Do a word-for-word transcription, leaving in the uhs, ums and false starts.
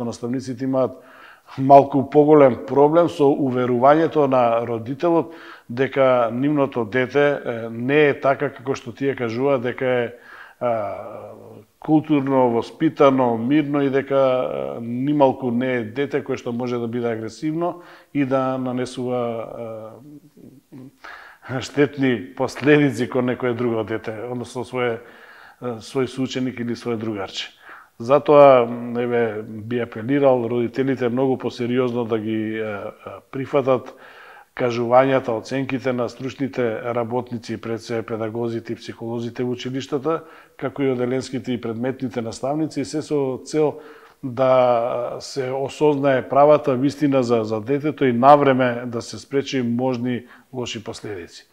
наставниците имаат малку поголем проблем со уверувањето на родителот дека нивното дете не е така како што тие кажуваат, дека е културно, воспитано, мирно и дека нималку не е дете кое што може да биде агресивно и да нанесува штетни последици кон некое друго дете, односно своје свој соученик или свој другарче. Затоа еве би апелирал родителите многу посериозно да ги прифатат кажувањата, оценките на стручните работници, пред се педагозите и психолозите во училиштата, како и оделенските и предметните наставници, се со цел да се осознае правата вистина за, за детето и навреме да се спречи можни лоши последици.